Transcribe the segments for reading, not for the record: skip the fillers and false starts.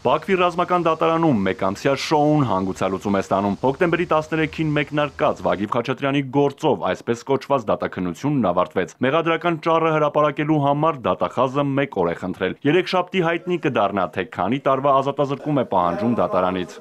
Բաքվի ռազմական դատարանում մեկամսյա շոուն հանգուցալուծում է ստանում։ Հոկտեմբերի 13-ին մեկնարկած Վագիվ Խաչատրյանի գործով այսպես կոչված դատաքննությունն ավարտվեց։ Մեղադրական ճառը հրապարակելու համար դատախազը 1 օր է խնդրել։ Երեքշաբթի հայտնի կդառնա, թե քանի տարվա ազատազրկում է պահանջում դատարանից։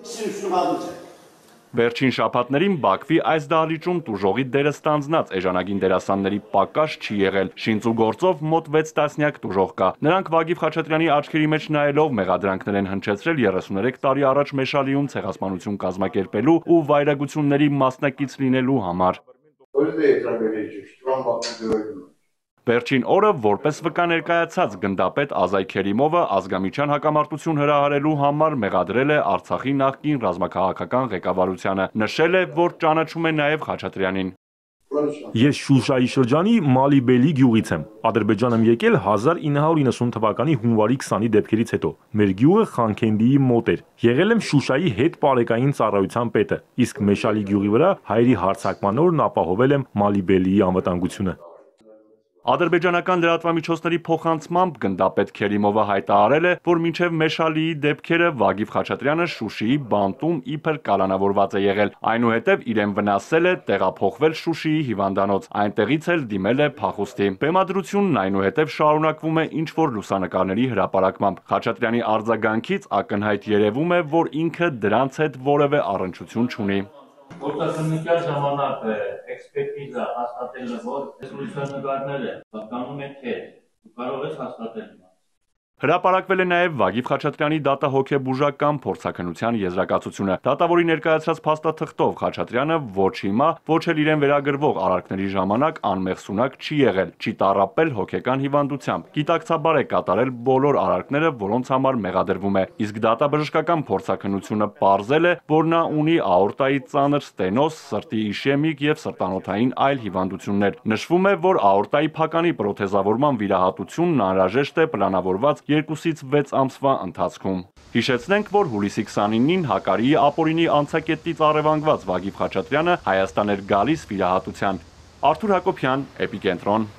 Վերջին շաբաթներին Բաքվի այս դահլիճում տուժողի դերը ստանձնած էժանագին դերասանների պակաս չի եղել։ Շինծու գործով մոտ 6 տասնյակ տուժող կա։ Նրանք Վագիվ Խաչատրյանի աչքերի մեջ նայելով մեղադրանքներ են հնչեցրել 33 տարի առաջ Մեշալիում ցեղասպանություն կազմակերպելու ու վայրագությունների մասնակից լինելու համար։ Վերջին օրը որպես վկա ներկայացած գնդապետ Ազայ Քերիմովը ազգամիչյան հակամարտություն հրահարելու համար մեղադրել է Արցախի նախկին ռազմաքաղաքական ղեկավարությանը։ Նշել է, որ ճանաչում է նաև Խաչատրյանին։ Ես Շուշայի շրջանի Մալիբելի գյուղից եմ։ Ադրբեջան եմ եկել 1990 թվականի հունվարի 20-ի դեպքերից հետո։ Մեր գյուղը Խանքենդիի մոտ էր։ Եղել եմ Շուշայի հետ պարեկային ծառայության պետը, իսկ Մեշալի գյուղի վրա հայերի հարձակման օրն ապահովել եմ Մալիբելիի անվտանգությունը։ Ադրբեջանական լրատվամիջոցների փոխանցմամբ գնդապետ Քերիմովը հայտարարել է, որ մինչև Մեշալիի դեպքերը Վագիվ Խաչատրյանը Շուշիի բանտում իբր կալանավորված է եղել, այնուհետև իրեն վնասել է տեղափոխվել Շուշիի հիվանդանոց, այնտեղից էլ դիմել է փախուստի։ Բեմադրությունն այնուհետև շարունակվում է ինչ-որ լուսանկարների հրապարակմամբ։ Խաչատրյանի արձագանքից ակնհայտ երևում է, որ ինքը դրանց հետ որևէ առնչություն չունի։ Գործակնության ժամանակ էքսպերտիզա հաստատել է, որ այս լուսանկարները պատկանում են թե կարող ես հաստատել։ Հրապարակվել է նաև Վագիվ Խաչատրյանի դատահոգեբուժական փորձաքննության եզրակացությունը։ Դատավորի ներկայացրած փաստաթղթով Խաչատրյանը ոչ հիմա, ոչ էլ իրեն վերագրվող արարքների ժամանակ անմեղսունակ չի եղել, չի տառապել հոգեկան հիվանդությամբ, գիտակցաբար է կատարել բոլոր արարքները, որոնց համար մեղադրվում է, իսկ դատաբժշկական փորձաքննությունը պարզել է, որ նա ունի աորտայի ծանր ստենոզ, սրտի իշեմիկ եւ սրտանոթային այլ հիվանդություններ։ Նշվում է, որ աորտայի փականի պրոթեզավորման վիրահատությունն անհրաժեշտ է պլանավորված 2-ից 6 ամսվա ընթացքում։ Հիշեցնենք, որ հուլիսի 29-ին Հակարիի ապօրինի անցակետից առևանգված Վագիվ Խաչատրյանը Հայաստան էր գալիս վիրահատության։ Արթուր Հակոբյան, Էպիկենտրոն։